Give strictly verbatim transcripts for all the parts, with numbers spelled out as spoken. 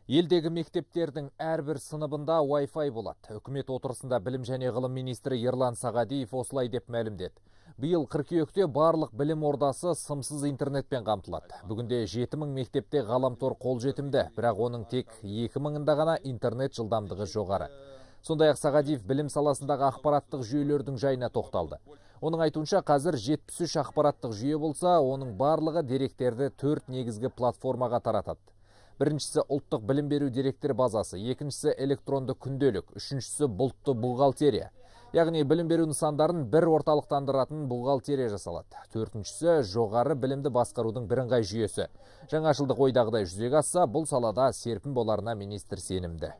Елдегі мектептердің әрбір сыныбында Wi-Fi болады. Үкімет отырысында білім және ғылым министрі Ерлан Сағадиев осылай деп мәлімдеді. Биыл қыркүйекте барлық білім ордасы сымсыз интернетпен қамтылады. Бүгінде жеті мың мектепте ғаламтор қолжетімді, бірақ оның тек екі мыңында ғана интернет жылдамдығы жоғары. Сондай-ақ Сағадиев білім саласындағы ақпараттық жүйелердің жайына тоқталды. Оның айтуынша қазір жетпіс үш ақпараттық жүйе болса, оның барлығы деректерді төрт негізгі платформаға таратады. Біріншісі ұлттық білім беру деректер базасы, екіншісі электронды күнделік, үшіншісі бұлтты бухгалтерия. Яғни білім беру нысандарын бір орталықтандыратын бухгалтерия жасалады. Төртіншісі жоғары білімді басқарудың бірыңғай жүйесі. Жаңашылдық ойдағыдай жүзеге асса, бұл салада серпін боларына министр сенімді.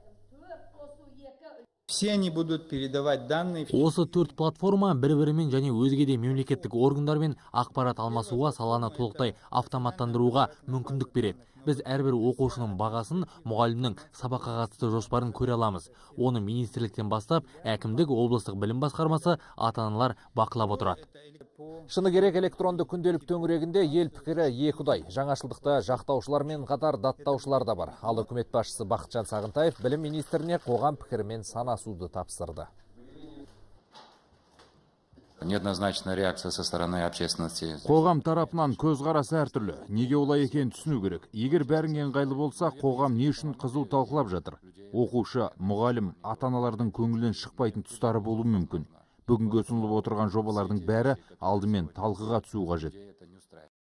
Все они будут передавать данные. Осы төрт платформа бір-бірімен және өзге де мемлекеттік органдармен ақпарат алмасуға, саланы толықтай автоматтандыруға мүмкіндік береді. Біз әрбір оқушының бағасын, мұғалімнің сабаққа қатысты жоспарын көре аламыз. Оны министрліктен бастап, әкімдік, облыстық білім басқармасы, ата-аналар бақылап отырады. Шыны керек, электронды күнделік төңірегінде ел пікірі екіұдай. Жаңашылдықта жақтаушылармен қатар даттаушылар да бар. Ал үкімет басшысы Бақытжан Сағынтаев білім министріне қоғам пікірімен санасуды тапсырды. Неоднозначная реакция со стороны общественности. Қоғам тарапынан көзқарас әртүрлі. Неге олай екенін түсіну керек. Егер бәрің ыңғайлы болса, қоғам не үшін қызу талқылап жатыр? Оқушы, мұғалім, ата-аналардың көңілінен шықпайтын тұстары болуы мүмкін. Бүгінгі ұсынылып отырған жобалардың бәрі алдымен талқыға түсуі қажет.